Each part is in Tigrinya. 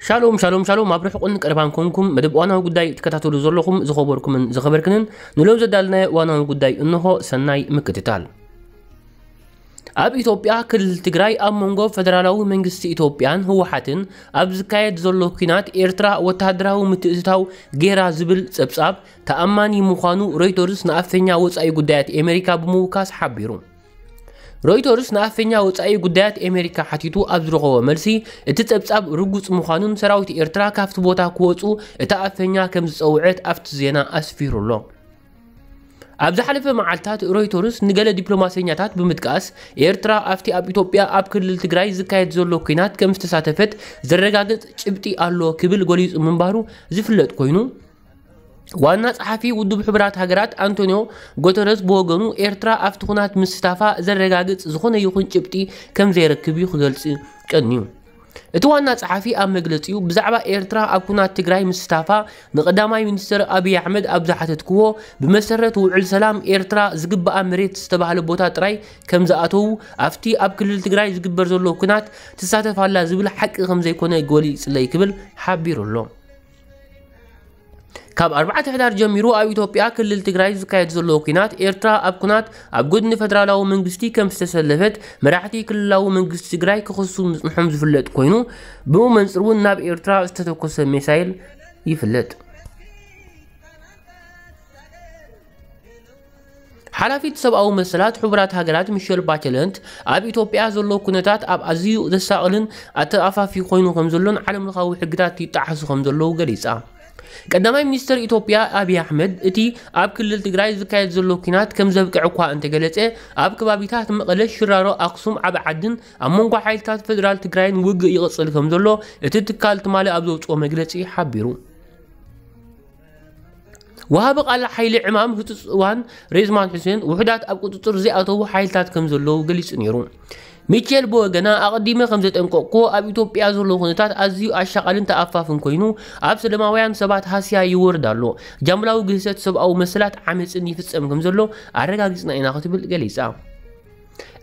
ሻሎም ሻሎም ሻሎም፣ ኣብ ርሑቕን ቀረባን ኮንኩም መደብ እዋናዊ ጉዳይ ትከታተሉ ዘለኹም ዝኸበርኩምን ዝኸበርክንን፣ ንሎም ዘዳልናዮ እዋናዊ ጉዳይ እንሆ። ሰናይ ምክትታል። ኣብ ኢትዮጵያ ክልል ትግራይ ኣብ መንጎ ፈደራላዊ መንግስቲ ኢትዮጵያን ህወሓትን ኣብ ዝካየድ ዘሎ ኲናት ኤርትራ ወተሃደራዊ ምትእትታው ጌራ ዝብል ጸብጻብ ተኣማኒ ምዃኑ ሮይተርስ ንኣፈኛ ወጻኢ ጉዳያት ኣሜሪካ ብምውካስ ሓቢሩ። ሮይተርስ ንኣፈኛ ወጻኢ ጉዳያት ኣሜሪካ ሓቲቱ ኣብ ዝረኸቦ መልሲ፣ እቲ ጸብጻብ ርጉጽ ምዃኑን ሰራዊት ኤርትራ ካብቲ ቦታ ክወጹ እታ ኣፈኛ ከም ዝጸውዐት ኣብቲ ዜና ኣስፊሩ ኣሎ። ኣብ ዝሓለፈ መዓልታት ሮይተርስ ንገለ ዲፕሎማሰኛታት ብምጥቃስ፣ ኤርትራ ኣብቲ ኣብ ኢትዮጵያ ኣብ ክልል ትግራይ ዝካየድ ዘሎ ኲናት ከም ዝተሳተፈት ዘረጋግጽ ጭብጢ ኣሎ ክብል ገሊጹ ምንባሩ ዝፍለጥ ኮይኑ፣ ዋና ጸሓፊ ውድብ ሕቡራት ሃገራት ኣንቶኒዮ ጉተረዝ ብወገኑ፣ ኤርትራ ኣብቲ ኹናት ምስታፋ ዘረጋግጽ ዝኾነ ይኹን ጭብጢ ከም ዘይረክብ እዩ ክገልጽ ቀንዩ። እቲ ዋና ጸሓፊ ኣብ መግለጺኡ፣ ብዛዕባ ኤርትራ ኣብ ኩናት ትግራይ ምስታፋ ንቀዳማይ ሚኒስተር ኣብይ ኣሕመድ ኣብ ዝሓተትክዎ፣ ብመሰረት ውዕል ሰላም ኤርትራ ዝግባኣ መሬት ዝተባህለ ቦታ ጥራይ ከም ዝኣተዉ፣ ኣብቲ ኣብ ክልል ትግራይ ዝግበር ዘሎ ኩናት ትሳተፍ ኣላ ዝብል ሓቂ ከም ዘይኮነ ገሊጽለይ ክብል ሓቢሩ ኣሎ። ካብ ኣርባዕተ ሕዳር ጀሚሩ ኣብ ኢትዮጵያ ክልል ትግራይ ዝካየድ ዘሎ ኩናት፣ ኤርትራ ኣብ ኩናት ኣብ ጎድኒ ፈደራላዊ መንግስቲ ከም ዝተሰለፈት መራሕቲ ክልላዊ መንግስቲ ትግራይ ክኸሱ ምጽንሖም ዝፍለጥ ኮይኑ፣ ብኡ መንጽር እውን ናብ ኤርትራ ዝተተኮሰ ሚሳይል ይፍለጥ። ሓላፊት ሰብኣዊ መሰላት ሕቡራት ሃገራት ሚሸል ባቸለንት፣ ኣብ ኢትዮጵያ ዘሎ ኩነታት ኣብ ኣዝዩ ዘሳቕልን ኣተኣፋፊ ኮይኑ ከም ዘሎን ዓለም ለኻዊ ሕግታት ይጣሓሱ ከም ዘለዉ ገሊጻ። ቀዳማይ ሚኒስተር ኢትዮጵያ ኣብይ ኣሕመድ፣ እቲ ኣብ ክልል ትግራይ ዝካየድ ዘሎ ኲናት ከም ዘብቅዕ እኳ እንተገለጸ፣ ኣብ ከባቢታት መቐለ፣ ሽራሮ፣ ኣክሱም፣ ዓቢ ዓድን ኣብ መንጎ ሓይልታት ፈደራል ትግራይን ውግእ ይቕጽል ከም ዘሎ እቲ ትካል ትማሊ ኣብ ዘውጽኦ መግለጺ ሓቢሩ። ወሃቢ ቃል ሓይሊ ዕማም ህጹጽ እዋን ሬዝማን ሑሴን፣ ውሑዳት ኣብ ቁጽጽር ዘይኣተዉ ሓይልታት ከም ዘለዉ ገሊጹ ነይሩ። ሚቼል ብወገና፣ ኣቐዲመ ከም ዘጠንቀቕኩ፣ ኣብ ኢትዮጵያ ዘሎ ኩነታት ኣዝዩ ኣሻቓልን ተኣፋፍን ኮይኑ፣ ኣብ ሰላማውያን ሰባት ሃስያ ይወርድ ኣሎ። ጃምላዊ ግህሰት ሰብኣዊ መሰላት ዓመጽን ይፍጸም ከም ዘሎ ኣረጋጊጽና ኢና ክትብል ገሊጻ።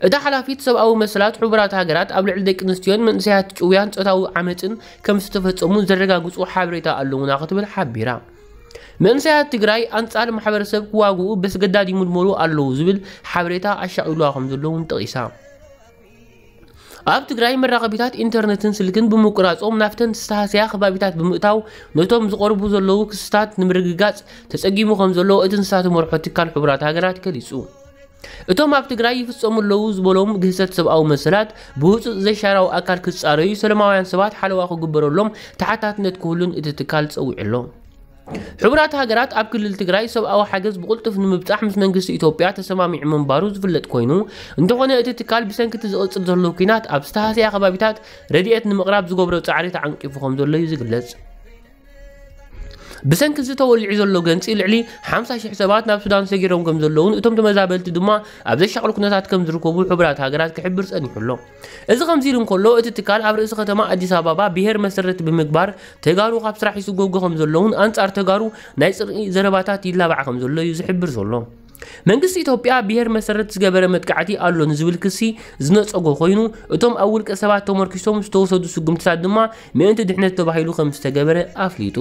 እታ ሓላፊት ሰብኣዊ መሰላት ሕቡራት ሃገራት፣ ኣብ ልዕሊ ደቂ ኣንስትዮን መንእሰያት ጭውያን ጾታዊ ዓመጽን ከም ዝተፈጸሙ ዘረጋግጹ ሓበሬታ ኣለዉና ክትብል ሓቢራ። መንእሰያት ትግራይ ኣንጻር ማሕበረሰብ ክዋግኡ በስገዳድ ይምልመሉ ኣለዉ ዝብል ሓበሬታ ኣሻቒሉዋ ከም ዘሎ እውን ጠቒሳ። ኣብ ትግራይ መራኸቢታት ኢንተርነትን ስልክን ብምቁራጾም ናብተን ዝተሃስያ ከባቢታት ብምእታው ነቶም ዝቐርቡ ዘለዉ ክስታት ንምርግጋጽ ተጸጊሙ ከም ዘሎ እቲ ንሳ ትመርሖ ትካል ሕቡራት ሃገራት ገሊጹ። እቶም ኣብ ትግራይ ይፍጸሙ ኣለዉ ዝበሎም ግህሰት ሰብኣዊ መሰላት ብህጹጽ ዘይሻራዊ ኣካል ክጻረዩ፣ ሰላማውያን ሰባት ሓለዋ ክግበረሎም ተሓታትነት ክህሉን እቲ ትካል ጸዊዑ ኣሎ። ሕቡራት ሃገራት ኣብ ክልል ትግራይ ሰብኣዊ ሓገዝ ብቕልጡፍ ንምብጻሕ ምስ መንግስቲ ኢትዮጵያ ተሰማሚዑ ምንባሩ ዝፍለጥ ኮይኑ፣ እንተኾነ እቲ ትካል ብሰንኪ እቲ ዝቕጽል ዘሎ ኲናት ኣብ ዝተሃስያ ከባቢታት ረድኤት ንምቕራብ ዝገብሮ ጻዕሪ ተዓንቂፉ ከም ዘሎ እዩ ዝግለጽ። ብሰንኪ እዚ ተወሊዑ ዘሎ ገንፂ ልዕሊ ሓምሳ ሽሕ ሰባት ናብ ሱዳን ሰጊሮም ከም ዘለውን እቶም ተመዛበልቲ ድማ ኣብ ዘሻቕል ኩነታት ከም ዝርከቡ ሕቡራት ሃገራት ክሕብር ጸኒሑ ኣሎ። እዚ ከምዚ ኢሉ እንከሎ፣ እቲ ትካል ኣብ ርእሲ ከተማ ኣዲስ ኣበባ ብሄር መሰረት ብምግባር ተጋሩ ካብ ስራሕ ይስጎጉ ከም ዘለውን ኣንጻር ተጋሩ ናይ ጽልኢ ዘረባታት ይላባዕ ከም ዘሎ እዩ ዝሕብር ዘሎ። መንግስቲ ኢትዮጵያ ብሄር መሰረት ዝገበረ መጥቃዕቲ ኣሎ ንዝብል ክሲ ዝነጸጎ ኮይኑ፣ እቶም ኣብ ውልቀ ሰባት ተመርኪሶም ዝተወሰዱ ስጉምትታት ድማ ምእንቲ ድሕነት ተባሂሉ ከም ዝተገበረ ኣፍሊጡ።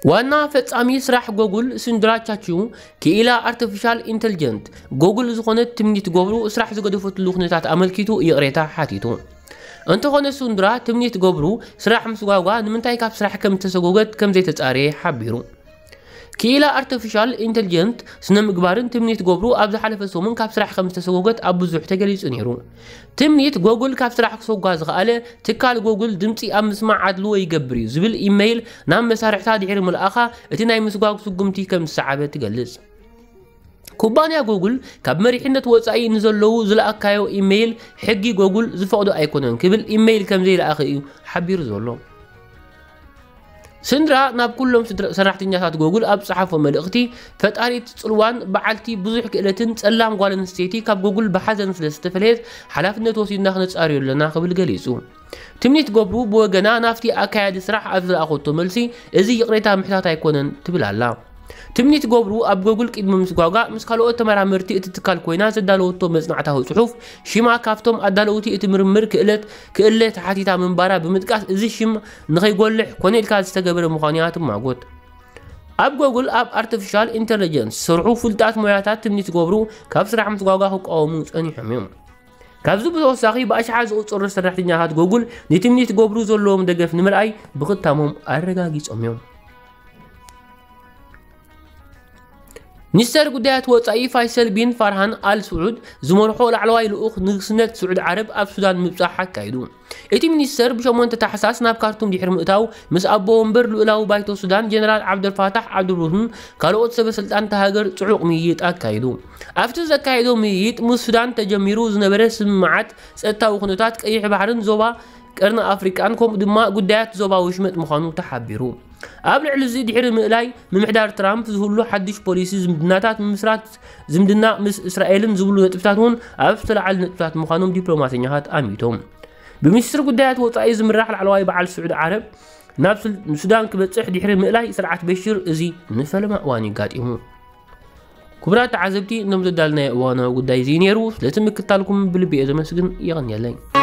ዋና ፈጻሚ ስራሕ ጎጉል ሱንድራ ቻቹ፣ ክኢላ ኣርቲፊሻል ኢንተልጀንት ጎጉል ዝኾነት ትምኒት ገብሩ ስራሕ ዝገደፈትሉ ኩነታት ኣመልኪቱ ይቕሬታ ሓቲቱ። እንተኾነ ሱንድራ ትምኒት ገብሩ ስራሕ ምስጓጓ ንምንታይ ካብ ስራሕ ከም ዝተሰጎገት ከም ዘይተጻረየ ሓቢሩ። ክኢላ ኣርቲፊሻል ኢንተልጀንት ስነ ምግባርን ትምኒት ገብሩ ኣብ ዝሓለፈ ሰሙን ካብ ስራሕ ከም ዝተሰጎገት ኣብ ብዙሕ ተገሊጹ ነይሩ። ትምኒት ጎጉል ካብ ስራሕ ክሰጓ ዝኸኣለ፣ ትካል ጎጉል ድምጺ ኣብ ምስማዕ ኣድልዎ ይገብር እዩ ዝብል ኢመይል ናብ መሳርሕታ ድሕሪ ምልኣኻ፣ እቲ ናይ ምስጓግ ስጉምቲ ከም ዝሰዓበ ትገልጽ። ኩባንያ ጎጉል ካብ መሪሕነት ወጻኢ ንዘለዉ ዝለኣካዮ ኢመይል ሕጊ ጎጉል ዝፈቕዶ ኣይኮነን ክብል ኢመይል ከም ዘይለኣኸ እዩ ሓቢሩ ዘሎ። ስንድራ ናብ ኩሎም ስድራ-፣ ሰራሕተኛታት ጎጉል ኣብ ዝጸሓፎ መልእኽቲ፣ ፈጣሪት ጽልዋን በዓልቲ ብዙሕ ክእለትን ጸላም ጓል ኣንስተይቲ ካብ ጎጉል ብሓዘን ስለ ዝተፈለየት፣ ሓላፍነት ወሲድና ክነጻርዮ ኣለና ክብል ገሊጹ። ትምኒት ገብሩ ብወገና፣ ናብቲ ኣካያዲ ስራሕ ኣብ ዝለኣኸቶ መልሲ፣ እዚ ይቕሬታ ምሕታት ኣይኮነን ትብል ኣላ። ትምኒት ገብሩ ኣብ ጎግል ቅድሚ ምስጓጓ ምስ ካልኦት ተመራመርቲ እቲ ትካል ኮይና ዘዳለወቶ መጽናዕታዊ ጽሑፍ፣ ሽማ ካብቶም ኣዳለውቲ እቲ ምርምር ክእለት ክእለ ተሓቲታ ምንባራ ብምጥቃስ፣ እዚ ሽም ንኸይጎልሕ ኮነ ኢልካ ዝተገበረ ምዃኑ እያ ትማጎት። ኣብ ጎግል ኣብ ኣርቲፊሻል ኢንተለጀንስ ዝሰርሑ ፍሉጣት ሞያታት ትምኒት ገብሩ ካብ ስራሕ ምስጓጓ ክቃወሙ ጸኒሖም እዮም። ካብዚ ብተወሳኺ ብኣሽሓት ዝቑጸሩ ሰራሕተኛታት ጎግል ንትምኒት ገብሩ ዘለዎም ደገፍ ንምርኣይ ብኽታሞም ኣረጋጊጾም እዮም። ሚኒስተር ጉዳያት ወጻኢ ፋይሰል ቢን ፋርሃን ኣል ስዑድ ዝመርሖ ላዕለዋይ ልኡኽ ንግስነት ስዑድ ዓረብ ኣብ ሱዳን ምብጻሕ ኣካይዱ። እቲ ሚኒስተር ብሸሞንተ ታሕሳስ ናብ ካርቱም ድሕሪ ምእታው ምስ ኣቦ ወንበር ልኡላዊ ባይቶ ሱዳን ጀነራል ዓብደልፋታሕ ዓብዱልቡርሃን ካልኦት ሰበ ስልጣን እታ ሃገር ጽዑቕ ምይይጥ ኣካይዱ። ኣብቲ ዘካየዶ ምይይጥ ምስ ሱዳን ተጀሚሩ ዝነበረ ስምምዓት ጸጥታዊ ኩነታት ቀይሕ ባሕርን ዞባ ቀርኒ ኣፍሪቃን ከምኡ ድማ ጉዳያት ዞባ ወሽመጥ ምዃኑ ተሓቢሩ። ኣብ ልዕሊ እዚ ድሕሪ ምእላይ ምምሕዳር ትራምፕ ዝህሉ ሓድሽ ፖሊሲ ዝምድናታት ምምስራት ዝምድና ምስ እስራኤልን ዝብሉ ነጥብታት እውን ኣብ ዝተለዓሉ ነጥብታት ምዃኖም ዲፕሎማተኛታት ኣሚቶም። ብሚኒስትሪ ጉዳያት ወጻኢ ዝምራሕ ላዕለዋይ በዓል ስዑዲ ዓረብ ናብ ሱል- ሱዳን ክበጽሕ ድሕሪ ምእላይ ስርዓት በሽር እዚ ንፈለማ እዋን እዩ ኣጋጢሙ። ክቡራት ተዓዘብቲ፣ እኖም ዘዳልናዮ እዋናዊ ጉዳይ እዚ ነይሩ። ስለቲ ምክታልኩም ብልቢ እየ ዘመስግን። የቐንየለይ።